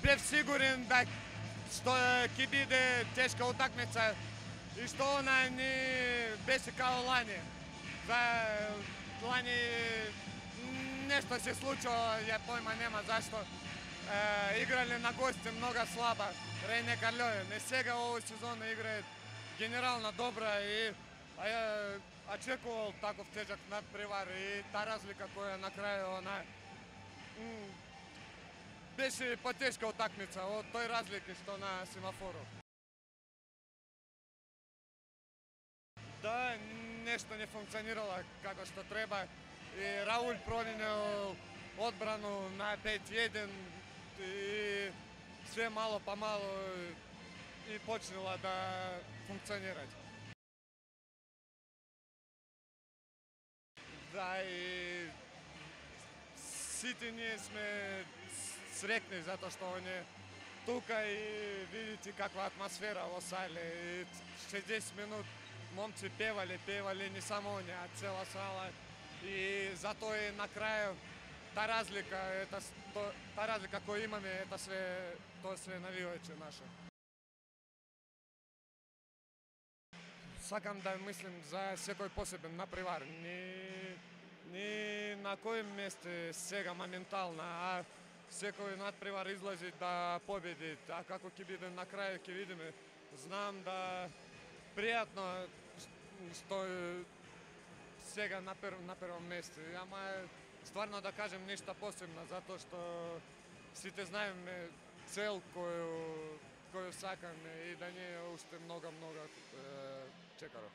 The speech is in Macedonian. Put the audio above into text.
бев сигурен да ќе биде тешка утакмица и што она не беше као лани. Лани нешто се случило, ја појма нема зашто. Играле на гости много слаба, Рене Карлоје. Не сега овој сезона играе генерално добра и ја очекувал таков тежак надпревар и та разлика која на крајот она беше потешка утакмица од тој разлики што на семафорот. Да, нешто не функционирало како што треба и Рауль проминел одбрану на 5-1 и све мало по мало и почнела да функционира. Да, и сите ние сме срекни затоа што он е тука и видите каква атмосфера во сале. И 60 минут момци певали не само они, а цела сала. И затоа и на крај та разлика која имаме, тоа све навивачи наше. Сакам да мислим за секој посебен напревар. Не на кој месте сега моментално, а секој надпревар излази да победи. А како ќе биде на крај, ќе видиме. Знам да пријатно што сега на прво место. Ама стварно да кажем нешто посебно, затоа што сите знаеме цел коju сакаме и да не е уште много чекаро.